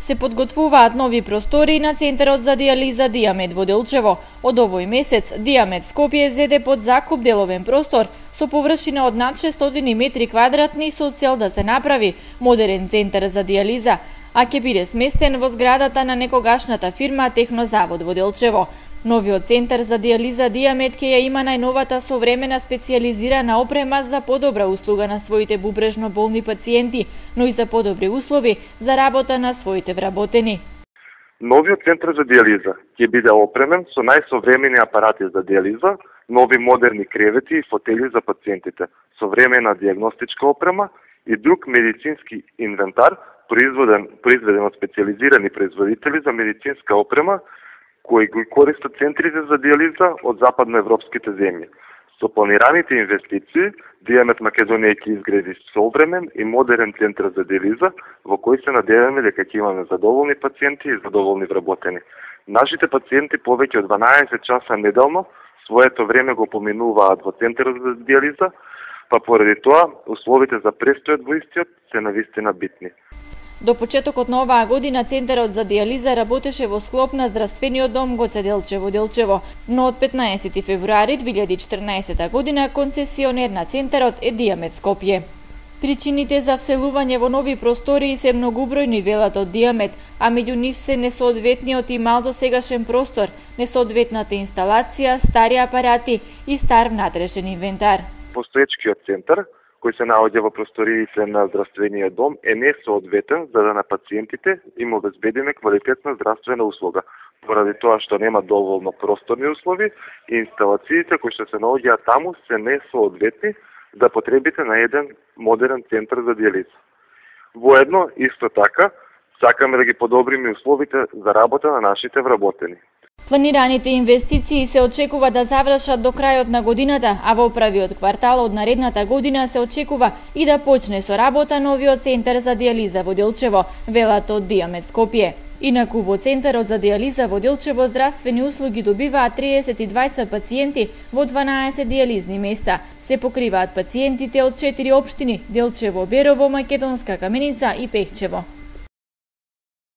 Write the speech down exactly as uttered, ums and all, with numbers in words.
Се подготвуваат нови простори на Центарот за дијализа Дијамед во Делчево. Од овој месец Дијамед Скопје зеде под закуп деловен простор со површина од над шестстотини метри квадратни со цел да се направи модерен центар за дијализа, а ќе биде сместен во зградата на некогашната фирма Технозавод во Делчево. Новиот центар за дијализа Дијамед ќе ја има најновата современа специјализирана опрема за подобра услуга на своите бубрежно болни пациенти, но и за подобри услови за работа на своите вработени. Новиот центар за дијализа ќе биде опремен со најсовремени апарати за дијализа, нови модерни кревети и фотели за пациентите, современа дијагностичка опрема и друг медицински инвентар произведен, произведен од специјализирани производители за медицинска опрема кои го користат центрите за дијализа од западноевропските земји. Со планираните инвестиции, Дијамед Македонија ќе изгради современ и модерен центар за дијализа во кој се надеваме дека ќе имаме задоволни пациенти и задоволни вработени. Нашите пациенти повеќе од дванаесет часа неделно своето време го поминуваат во центарот за дијализа, па поради тоа условите за престојот во истиот се навистина битни. До почетокот на оваа година Центарот за дијализа работеше во склоп на Здравствениот дом Гоце Делчево Делчево, но од петнаесети февруари две илјади и четрнаесета година концесионер на Центарот е Дијамед Скопје. Причините за вселување во нови простори се многубројни, велат од Дијамед, а меѓу нив се несоодветниот и мал досегашен простор, несоодветната инсталација, стари апарати и стар внатрешен инвентар. Постоечкиот центар кој се наоѓа во просториите на Здравствениот дом е несоодветен за да на пациентите им обезбедиме квалитетна здравствена услуга, поради тоа што нема доволно просторни услови и инсталациите кои што се наоѓаат таму се несоодветни за потребите на еден модерен центар за дијализа. Воедно, исто така, сакаме да ги подобриме условите за работа на нашите вработени. Планираните инвестиции се очекува да завршат до крајот на годината, а во првиот квартал од наредната година се очекува и да почне со работа новиот центар за дијализа во Делчево, велат од Дијамед Скопје. Инаку во Центарот за дијализа во Делчево здравствени услуги добиваат триесет и двајца пациенти во дванаесет дијализни места. Се покриваат пациентите од четири општини: Делчево, Берово, Македонска Каменица и Пехчево.